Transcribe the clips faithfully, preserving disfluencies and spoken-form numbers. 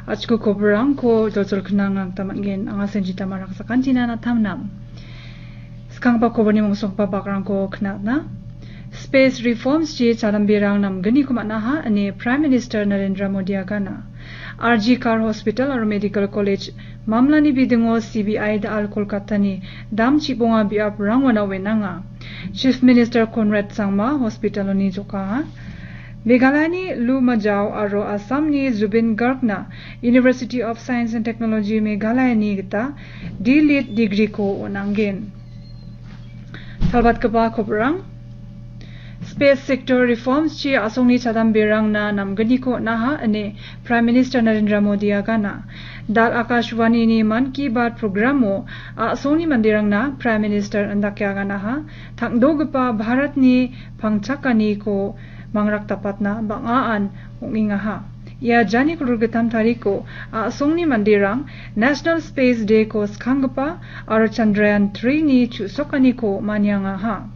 Achku koborangko jojol knang gita man·gen. Anga Senjita Marak sakantina natamnam. Skangba koborni mongsokba bakrangko knatna. Space reforms ji chalamberang namgniko man·aha ine Prime Minister Narendra Modi agana. R G Kar Hospital aro Medical College mamlani bidingo C B I da·al Kolkatani dam chibonga biaprangona wenanga. Chief Minister Conrad Sangma hospitaloni jokaha. Meghalayani Lu Majao aro Assamni Zubeen Gargna University of Science and Technology Meghalayani gita D.Litt degree-ko on·angen. Talbatgipa koborang. Space sector reforms ji a·songni chadamberangna namgniko on·aha ine Prime Minister Narendra Modi agana. Dal Akashvanini Mann Ki Baat programo a·songni manderangna Prime Minister indake aganaha. Tangdogipa Bharatni pangchakaniko mangrakdapatna bang·aan ong·engaha. Ia jani kolgritam tariko a·songni manderang National Space Day-ko skanggipa aro Chandrayaan three-ni chu·sokaniko maniangaha.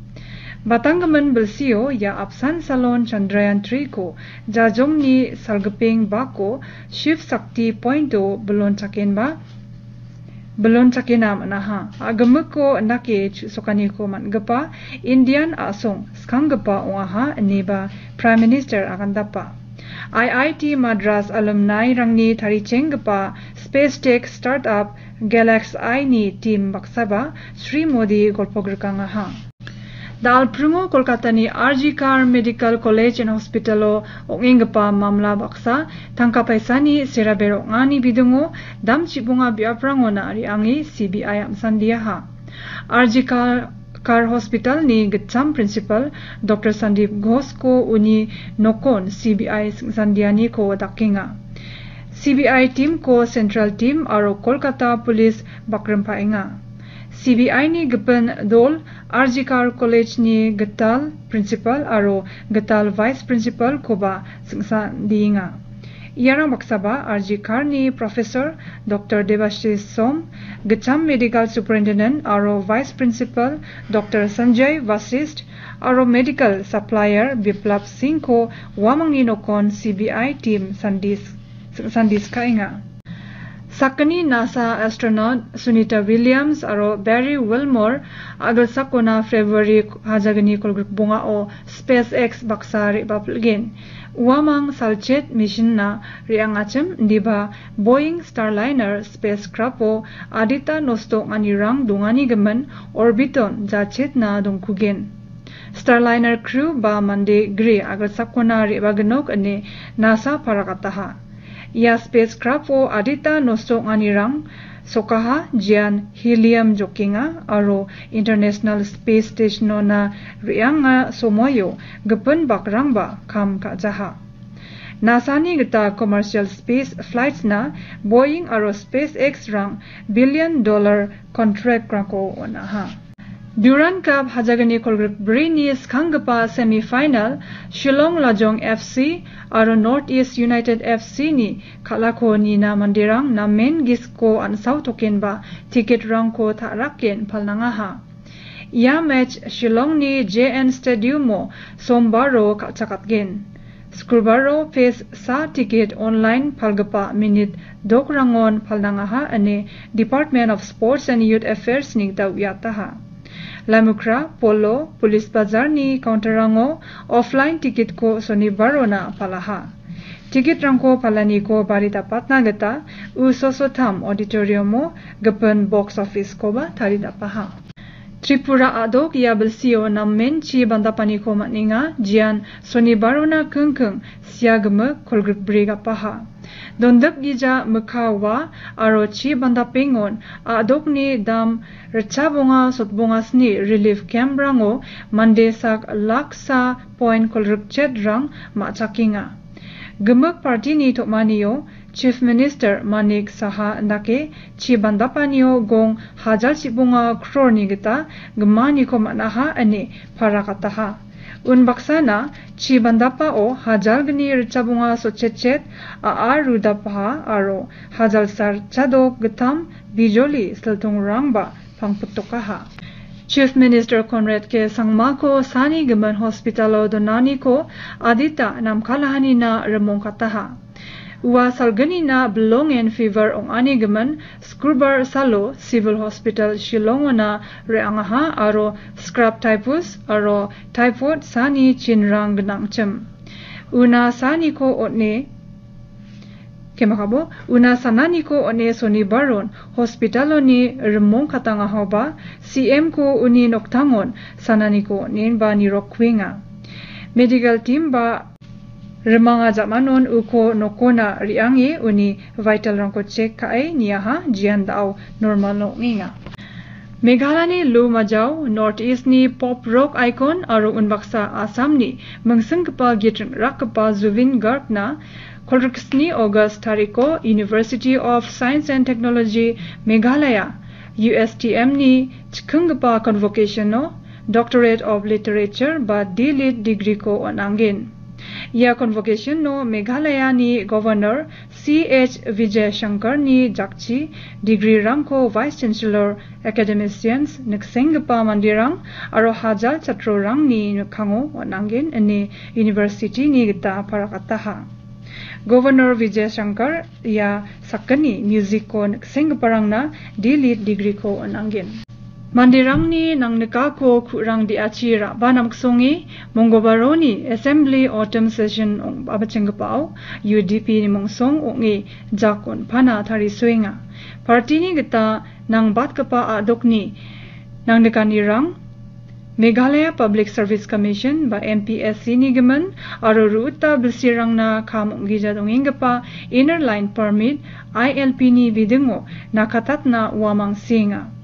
Batanggimin bilsio ia apsan salon Chandrayaan three-ko jajongni salgipeng bako Shiv Shakti Point-o bilon chakenba bilon chakena man·aha. A·gimiko indake chu·sokaniko man·gipa Indian a·song skanggipa ong·aha ineba Prime Minister agandapa. I I T Madras alumni-rangni tarichenggipa Space Tech Startup Galaxy-ni team baksaba Shri Modi golpo grikangaha. Dal·pringo Kolkatani R G Kar Medical College and Hospital-o ong·enggipa mamla baksa tangka paisani serabe rong·ani bidingo dam chibonga biaprangona re·ange C B I am·sandiaha. R G Kar, Kar Hospital-ni gitcham principal Doctor Sandeep Ghosh-ko uni nokon C B I sing·sandianiko dakenga. C B I team-ko Central Team aro Kolkata Police bakrimpaenga. C B I-ni gipin dol R G Kar College-ni gital principal aro gital vice principal-koba sing·sandienga. Iarang baksaba R G Kar-ni Professor Doctor Debashish Som, gitcham Medical Superintendent aro Vice Principal Doctor Sanjay Vasisht aro Medical Supplier Biplab Singh-ko uamangni nokon C B I team sandis-, sandiskaenga. Sakgni NASA astronaut Sunita Williams aro Barry Wilmore a·gilsakona February hajagni kolgrikbongao SpaceX baksa re·bapilgen. Uamang salchet mission-na re·angachim indiba Boeing Starliner spacecraft-o adita nosto ong·anirang dongani gimin orbit-on jachetna dongkugen. Starliner crew ba mande gri a·gilsakona re·baginok ine NASA paragataha. Ia spacecraft-o adita nosto ong·anirang sokaha, jian helium jokenga aro International Space Station-ona re·anga somoio gipin bakrangba kam ka·jaha. NASA-ni gita commercial space flights-na Boeing aro SpaceX-rang billion dollar contract-rangko on·aha. Durand Cup hajagni kolgrikbrini skanggipa semi-final Shillong Lajong F C aro North East United F C-ni kal·ako nina manderang namen gisiko an·sao tokenba ticket-rangko ta·raken palnangaha. Ia match Shillongni J N Stadium-o sombaro kal·chakatgen. Skulbaro phase sa ticket online palgipa minit dokrangon palnangaha ine Department of Sports and Youth Affairs-ni gita uiataha. Lamukra, Polo, Police Bazar-ni counter-rango offline ticket-ko sonibarona palaha. Ticket-rangko palaniko bari dapatna gita U Sosotham Auditorium-o gipin box office-koba taridapaha. Tripura a·dok ia bilsio namen chi bandapaniko man·enga, jian sonibarona kingking sia gimik kolgrikbri gapaha. Dondipgija mikka wa aro chi bandapengon a·dokni dam ritchabonga sotbonga sni relief camp-rango mande sak laksa point kolgrikchetrang ma·chakenga. Gimik party-ni tom·anio Chief Minister Manik Saha indake chi bandapanio gong hajal chibonga crore-ni gita gimaniko man·aha ine paragataha. Unbaksana chi bandapao hajalgni ritchabonga sotchetchet a·ar rudapaha aro hajalsa ritchadok gittam bijoli siltongrangba pangpitokaha. Chief Minister Conrad K Sangmako sani gimin hospital-o donaniko adita namkalahanina rimongkataha. Ua salgnina bilongen fever ong·ani gimin, Skrubar salo Civil Hospital Shillongona re·angaha aro scrub typhus aro typhoid sani chinrang gnangchim. Una saniko on·e, kemakabo, una sananiko on·e Sonibaron hospitaloni rimong katangahaoba C M ko uni noktangon sananiko on·enba nirokkuenga. Medical team ba rimanga jamanon uko nokona re·ange uni vitalrangko chek ka·e niaha, jian da·o normal ong·enga. Meghalani Lou Majao, North East ni pop rock icon aro unbaksa Assamni mingsinggipa git ring·rakgipa Zubeen Garg-na kolgriksni August tariko University of Science and Technology Meghalaya, U S T M ni chikinggipa convocation-o Doctorate of Literature ba D Lit degree-ko on·angen. Ia convocation-o Meghalaya-ni Governor C H Vijayashankar-ni jakchi degree-rangko Vice Chancellor, academicians, niksenggipa manderang aro hajal chatrorangni mikkango on·angen ine university-ni gita parakataha. Governor Vijayashankar ia sakgni music-ko niksenggiparangna D Lit degree-ko on·angen. Manderangni nangnikako ku·rang de·achi ra·ba namsonge Monggobaroni Assembly Autumn Session ong-, a·bachenggipao U D P-ni mongsong ong·e jak on·pana tarisoenga. Party-ni gita nangbatgipa a·dokni nangnikanirang Meghalaya Public Service Commission ba M P S C-ni gimin aro ruta bilsirangna kam ong·gija dongenggipa Inner Line Permit, I L P-ni bidingo nakatatna uamang seenga.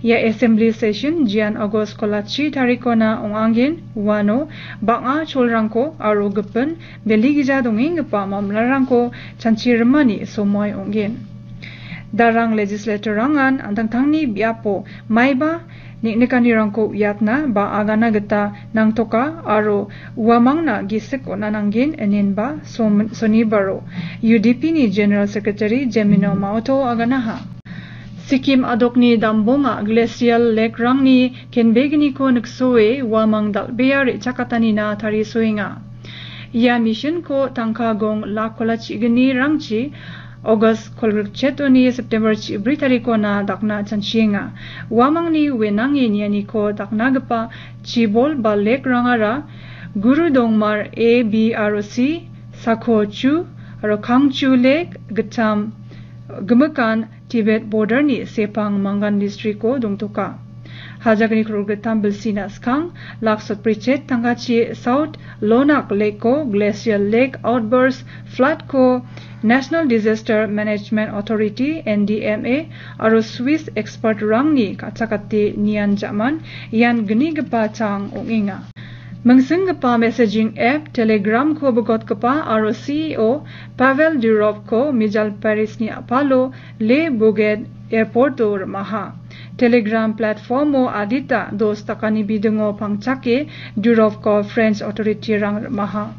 Ia Assembly Session jian August kolachi tarikona ong·angen, uano bang·a cholrangko aro gipin beligija dongenggipa mamlarangko chanchirimani somoi ong·gen. Darang legislator-rangan an·tangtangni biapo maiba neng·nikanirangko uiatna ba agana gita nangtoka aro uamangna gisik on·a nanggen inenba som-, Sonibaro U D P-ni General Secretary Jemino Maoto aganaha. Sikkim a·dokni dambonga glacial lake-rangni kenbegniko niksoe uamang dal·bea re·chakatanina tarisoenga. Ia mission-ko tangka gong lak kolachignirangchi August kolgrikchetoni September chibri tarikona dakna chanchienga. Uamangni wenange nianiko daknagipa chibol ba lake-rangara Guru Dongmar A, B aro C, Sakho Chu aro Kangchu Lake, Gittam, Gimikan, Tibet border-ni Sepang Mangan district-o dongtoka. Hajakni kror gittam bilsina skang, lak sotbrichet tangkachi South Lonak Lake-ko, Glacial Lake Outburst Flood-ko, National Disaster Management Authority, N D M A, aro Swiss expert-rangni ka·chakate nian ja·man ian gnigipa chang ong·enga. Mingsinggipa messaging app Telegram-ko bigotgipa aro C E O Pavel Durov-ko mijal Paris-ni a·palo Le Bourget Airport-o rim·aha. Telegram platform-o adita dos dakani bidingo pangchake Durov-ko French authority-rang rim·aha.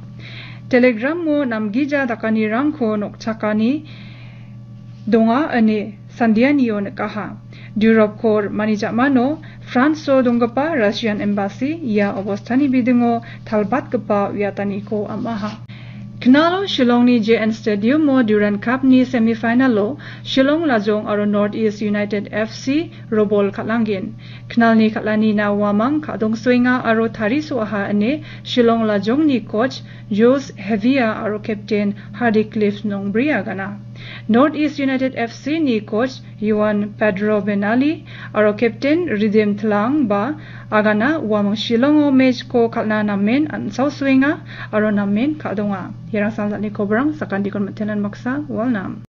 Telegram-o namgija dakanirangko nokchakani donga ine sandianio nikaha. Durov-ko rim·ani ja·mano France-o donggipa Russian embassy ia obostani bidingo talbatgipa uiataniko am·aha. Knalo Shillongni J N Stadium-o Durand Cup-ni semifinal-o Shillong Lajong aro North East United F C robol kal·angen. Knalni kal·anina uamang ka·dongsoenga aro tarisoaha ine Shillong Lajongni coach Jules Hevia aro captain Hardy Cliff Nongbri agana. North East United F C-ni coach Joan Pedro Benali aro captain Ridim Tlang ba agana uamang Shillongo match-ko kal·na namen an·saosoenga aro namen ka·donga. Iarang samjatni kobrang, sakantiko mitenan baksa, walnam.